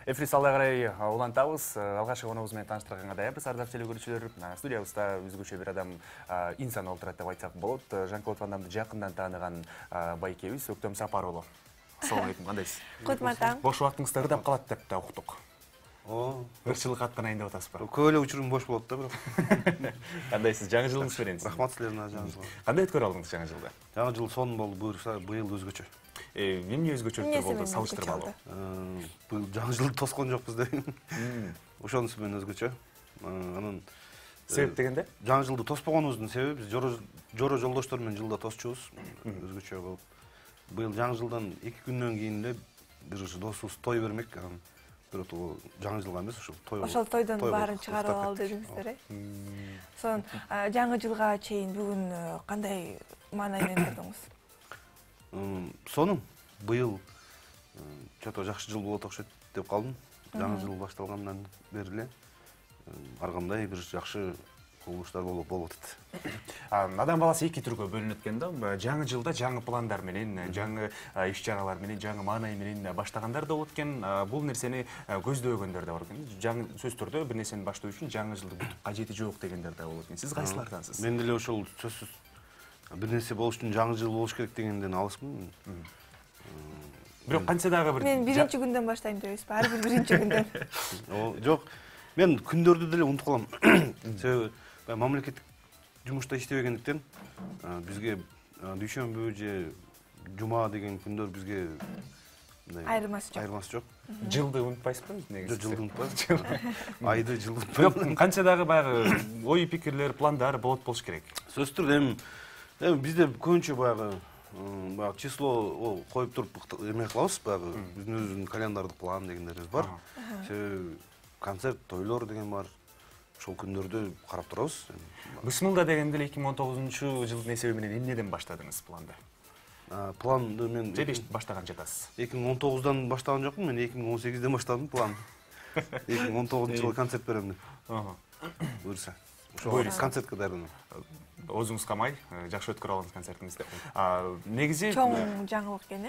Эфир салда карай улантабыз. Алгачкы коногубуз менен тааныштырганга даярбыз. Ардактуу телекөрүүчүлөр, студиябызда өзгөчө бир адам инсан отурат деп айтсак болот. Жан-Клод Ван Дамды жакындан тааныган байкебиз Өктөм Сапарулу. Ассалому алейкум, кандайсыз? Кутматам. Бош убактыңызда ырдап калат деп да уктук. Ырчылык атканайын деп атасызбы? Көп эле учурум бош болот да, бирок. Кандайсыз? Жаңы жылыңыз менен. Рахмат силерге жаңы жылга. Кандай өткөрүп алдыңыз жаңы жылды? Жаңы жыл сонун болду, буюрса быйыл өзгөчө. Эмне өзгөчөлүктөр болду, салыштырмалуу? Быйыл жаңы жылды тоскон жокпуз да. Ошонусу менен өзгөчө. Анан себеп дегенде? Жаңы жылды тоспогонубуздун себеби биз жоро жолдоштор менен жылда тосчубуз. Өзгөчө болуп. Быйыл жаңы жылдан 2 күндөн кийин эле бир досубуз той бермек. Бирок жаңы жылга эмес, ошол тойдон баарын чыгарып ал дедиңиздер, э? Сонун жаңы жылга чейин бүгүн кандай маанай менен көрдүңүз? Сонун. Быйыл чото жакшы жыл болот окшойт деп калдым. Жаңы жыл башталгандан бери эле ар кандай бир жакшы кубулуштар болуп атат. Адам баласы эки түргө бөлүнөт экен да. Жаңы жылда жаңы пландар менен, жаңы иш-чаралар менен, жаңы маанай менен баштагандар да болот экен. Бул нерсени көздөөгөндөр да бар экен. Жаңы сөзсүз түрдө бир нерсени баштоо үчүн жаңы жылды кажети жок дегендер да болот экен. Сиз кайсылардансыз? Мен деле ошол сөзсүз бир нерсе болуш үчүн жаңы жыл болуш керек дегенден алысмын. Бирок канча дагы бир Мен биринчи күндөн баштайм депесизби? Ар бир биринчи күндөн. Жок. Мен күндөрдү деле унутуп калам. Себеби мамлекеттик жумушта иштебегендиктен бизге дүйшөмбү же жума деген күндөр бизге айырмасы жок. Жылды унутпайсызбы негизи? Жылды унутпайм. Айды жылды унутпайм. Канча дагы баягы ой пикирлер, пландар болуш керек. Сөзсүз түрдө эми бизде көбүнчө баягы число коюп туруп эме кылабыз, баягы биздин өзүбүздүн календардык план дегендерибиз бар. Себеби концерт, тойлор деген бар. Ошол күндөрдү карап турабыз. Бысмылда дегенде 2019-жылдын эсеби менен эмнеден баштадыңыз планды? Планды мен же баштаган жатасыз? 2019-дан баштаган жокмун, мен 2018-ден баштадым планды. 2019-жылы концерт берем деп. Буюрса. Ошол концертке даярданам. Оозуңуз камай, жакшы өткөрүп алыңыз концертиңизди. Негизи чоң жаңылык экен, э?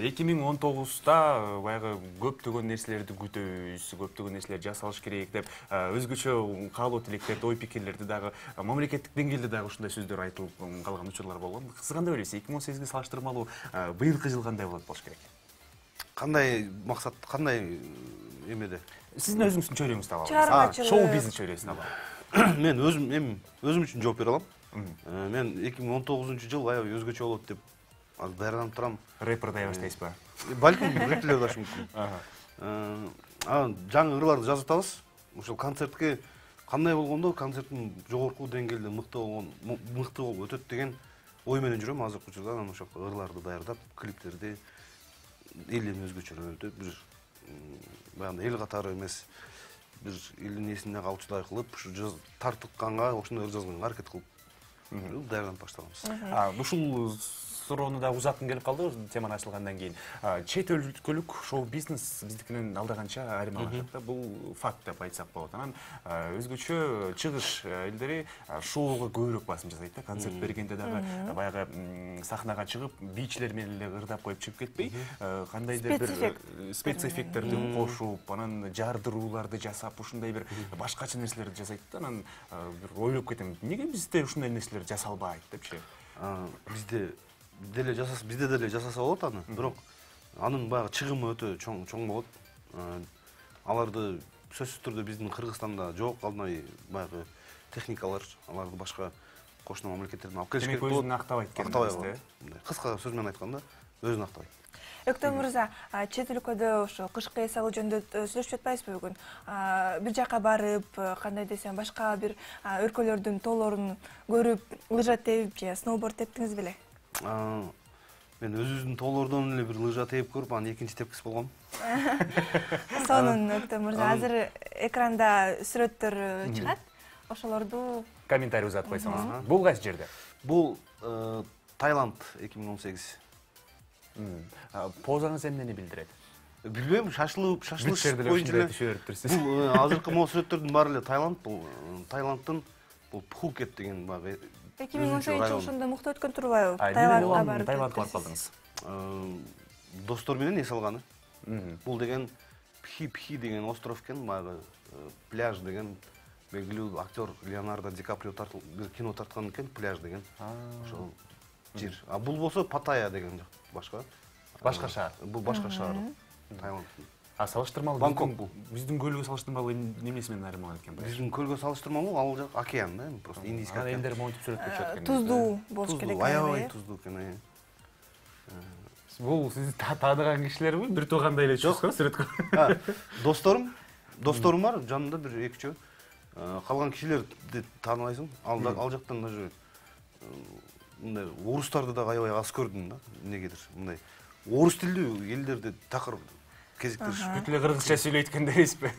2019-да баягы көптөгөн нерселерди күтөбүз, көптөгөн нерселер жасалыш керек деп өзгөчө каалоо тилектерди, ой пикирлерди дагы мамлекеттик деңгээлде дагы ушундай сөздөр айтылып калган учурлар болгон. Сиз кандай ойлойсуз? 2018-ге салыштырмалуу быйылкы жыл кандай болот болуш керек? Кандай максат, кандай эмеде? Сиздин өзүңүздүн чөйрөңүздү алабыз. Шоу бизнес чөйрөсүн алабыз. Мен өзүм үчүн жооп бере алам. Мен 2019-жыл аябай өзгөчө болот деп даярданып турам. Рэпер дая баштайсызбы? Балким рэперлер да мүмкүн. Жаңы ырларды жазып атабыз. Ошол концертке кандай болгондо концерттин жогорку деңгээлде мыкты болуп өтөт деген ой менен жүрөм азыркы учурда. Анан ошол ырларды даярдап, клиптерди элден өзгөчөрөөтүп, бир баягы эл катары эмес, бир элдин эсине калчудай кылып, ушу тартыкканга ошондой жазганга аракет кылып даярданып баштаганбыз. Ушул суроону да узаткым келип калды теманы ачылгандан кийин. Чет өлкөлүк шоу бизнес биздикинен алдаганча айырмалашат да. Бул факт деп айтсак болот. Анан өзгөчө чыгыш элдери шоуга көбүрөөк басым жасайт да. Концерт бергенде дагы баягы сахнага чыгып, бийчилер менен эле ырдап коюп чыгып кетпей, кандайдыр бир спецэффекттерди кошуп, анан жардырууларды жасап, ушундай бир башкача нерселерди жасайт да. Анан бир ойлоп кетем, эмнеге бизде ушундай нерселер жасалбайт депчи. Бизде деле жасаса болот аны, бирок анын баягы чыгымы өтө чоң болот. Аларды сөзсүз түрдө биздин Кыргызстанда жок, калдай баягы техникалар, аларды башка кошуна мамлекеттерден алып келиш керек болот. Өзүн актабайт экен. Кыска сөз менен айтканда, өзүн актабайт. Өктөм мырза, чет өлкөдө ошо кышкы эс алуу жөнүндө сүйлөшүп жатпайсызбы бүгүн? Бир жака барып, кандай десем, башка бир өлкөлөрдүн тоолорун көрүп, лыжа терип же сноуборд тептиңиз беле? Мен өзүбүздүн тоолордон эле бир лыжа теип көрүп, анын экинчи тепкиси болгом. Сонун, Өктөм мырза, азыр экранда сүрөттөр чыгат. Ошолорду комментарий узатып койсоңуз. Бул кайсы жерде? Бул Таиланд 2018. Позаңыз эмнени билдирет? Билбейм, шашлыш боюнча эле. Бул азыркы могу сүрөттөрдүн баары эле Таиланд, бул Таиландтын бул Пхукет деген баягы 2018 ошондо мыкты өткөн турбайбы? Таиландга барып калдыңыз. Достор менен эс алганы. Бул деген Хипхи деген остров экен, баягы пляж деген белгилүү актер Леонардо Ди Каприо бир кино тарткан экен, пляж деген. Ошол жер. А бул болсо Паттайя деген башка. Башка шаар. Бул башка шаар. Таиланд. А салыштырмалуу Бангкок бул. Биздин көлгө салыштырмалуу эмнеси менен айырмаланат экен? Биздин көлгө салыштырмалуу ал жак океан да, просто Индийский океан. Элдер монтип сүрөткө түшөт экен. Туздуу болуш керек. Аябай туздуу экен. Бул сиз тааныган кишилерби? Бир туугандай эле чыккан сүрөткө. Досторум бар, жанымда бир 2-3. Калган кишилерди тааныбайсың. Ал жактан даже мындай орустарды да аябай аз көрдүм да. Эмнегедир мындай орус тилдүү элдерди такыр кезиктиришип. Бүт эле кыргызча сүйлөйт экен дебейсизби?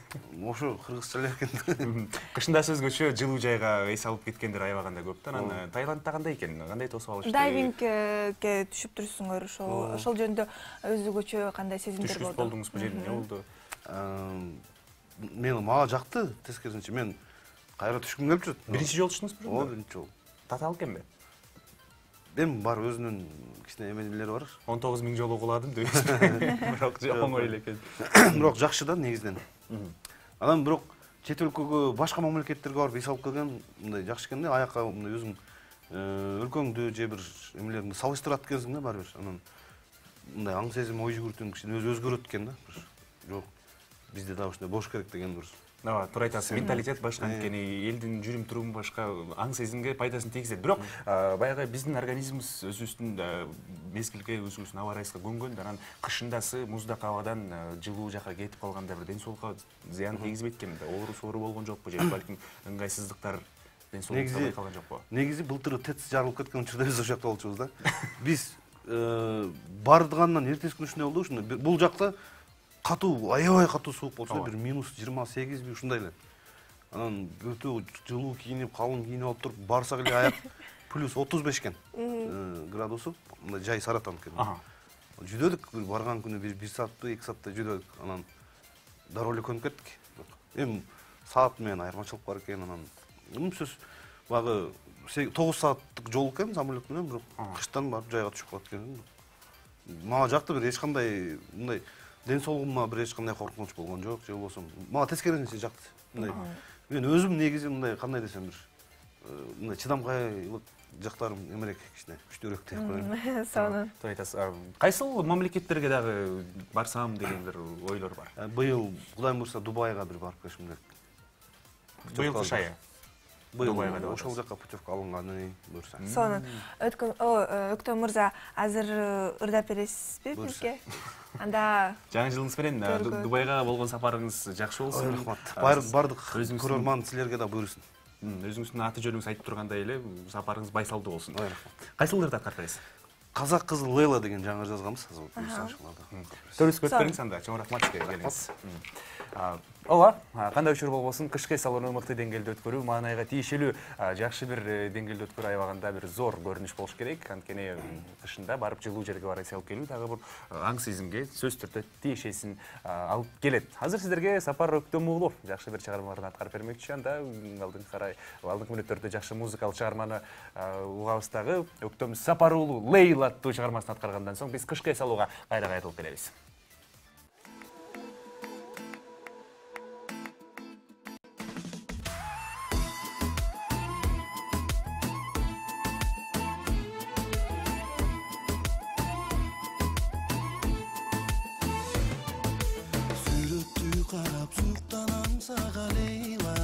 Ошо кыргызча эле экен. Кышында өзгөчө жылуу жайга эс алып кеткендер аябаганда көп да. Анан Таиландда кандай экен? Кандай тосуп алышты? Дайвингке түшүп турсуңар, ошол жөнүндө өзгөчө кандай сезимдер болду? Түшүп болдуңузбу же эмне болду? Мага жакты, тескерисинче мен кайра түшкүм келип жүрөт. Биринчи жолу түштүңүзбү? Ооба, биринчи жолу. Татаал экенби? Эми бар өзүнүн кичине эмелери бар. 19 000 жолу куладым дебейсизби? Бирок оңой эле экен. Бирок жакшы да негизинен. Анан бирок чет өлкөгө, башка мамлекеттерге барып эс алып келген мындай жакшы экен да, аякка мындай өзүң өлкөңдү же бир эмелерди салыштырат экенсиң да баары бир. Анан мындай аң сезим, ой жүгүртүң кичине өзгөрөт экен да. Жок, бизде да ушундай болуш керек деген бир. Ооба, туура айтасыз. Менталитет башка, анткени элдин жүрүм-туруму башка, аң сезимге пайдасын тийгизет. Бирок баягы биздин организмибиз өзүбүздүн мезгилге, өзүбүздүн аба ырайыбызга көнгөн, анан кышындасы муздак абадан жылуу жака кетип калганда бир ден соолукка зыян тийгизбейт экенби? Оору-соору болгон жокпу же балким ыңгайсыздыктар ден соолукка байкалган жокпу? Негизи былтыр ТЭЦ жарылып кеткен учурда биз ошол жакта болчубуз да. Биз бардыгандан эртеси күнү ушундай болду, ушундай бул жакта катуу, аябай катуу суук болчу, бир -28 ушундай эле. Анан өтө жылуу кийинип, калың кийинип алып туруп барсак эле аяк +35 экен градусу, мындай жай Саратан экен. Жүдөдүк, барган күнү бир саатты, 2 саатта жүдөдүк. Анан дароо эле көнүп кеттик. Эми саат менен айырмачылык бар экен, анан сөз багы 9 сааттык жол экен самолет менен, бирок кыштан барып жайга түшүп калат экен. Мага жакты, бир эч кандай мындай ден соолугума бир эч кандай коркунуч болгон жок, же болбосо мага тескерисинче жакты. Мындай мен өзүм негизи мындай кандай десем бир мындай чыдамкайлык жактарым эмерээк, кичине күчтүүрөөк деп коеюн. Сонун. Туура айтасыз. Кайсыл мамлекеттерге дагы барсам деген бир ойлор бар? Быйыл Кудай буйрса Дубайга бир барып келишим керек. Быйыл кыш айы. Быйыл ошол жакка путевка алынганы буйрса. Сонун. Өктөм мырза, азыр ырдап бересизби бизге? Анда жаңы жылыңыз менен Дубайга болгон сапарыңыз жакшы болсун. Рахмат. Бардык көрөрман силерге да буйрсун. Өзүңүздүн аты жөнүңүз айтып тургандай эле сапарыңыз байсалдуу болсун. Рахмат. Кайсыл ырды аткарып бересиз? Казак кызы Лейла деген жаңы жазганбыз. Төрүскө өтпөңүз анда. Чоң рахмат сизге келиңиз. Ооба, кандай учур болбосун, кышкы эс алууну мыкты деңгээлде өткөрүү, маанайга тийишелүү жакшы бир деңгээлде өткөрүү аябагында бир зор көрүнүш болуш керек. Анткени кышында барып жылуу жерге барып эс алып келүү дагы бир аң сезимге сөзсүз түрдө тиешесин алып келет. Азыр сиздерге Сапар Өктөм уулу жакшы бир чыгармаларды аткарып бермекчи. Анда алдыңкы мүнөттөрдө жакшы музыкалык чыгарманы угабыз дагы. Өктөм Сапар уулу Лейла аттуу чыгармасын аткаргандан соң биз кышкы эс алууга кайра кайтылып келебиз. Карап суктанам сага Лейла,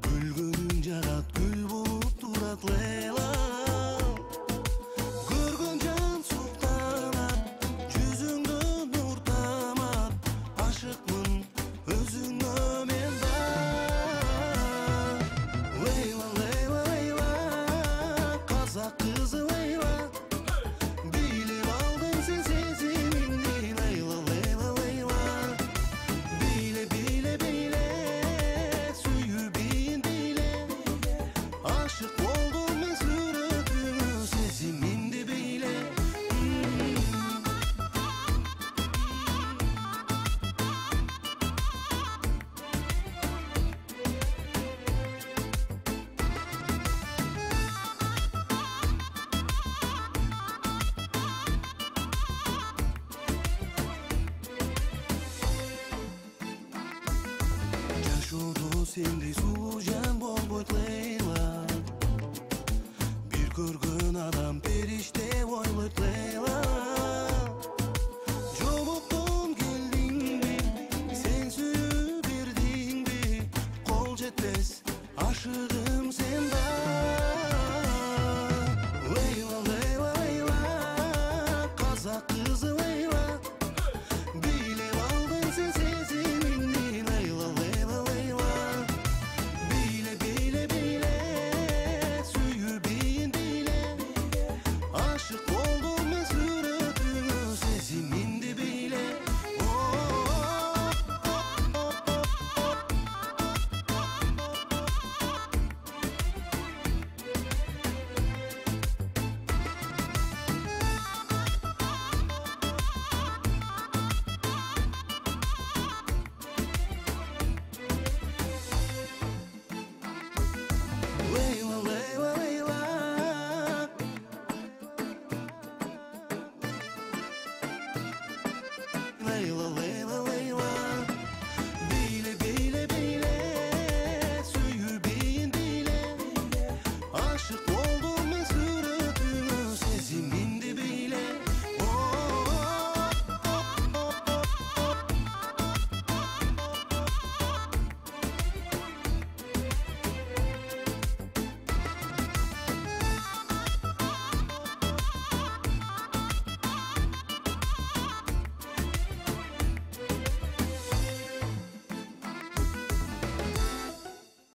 күлгөнүң жагат күл болуп турат Лейла. Көргөн жан суктанат, жүзүңдө нур тамат, ашыкмын өзүңө мен да. Лейла, Лейла, Лейла, казак кызы Лейла, билип алдың сен сезимимди Лейла, Лейла, Лейла. Bile bile айла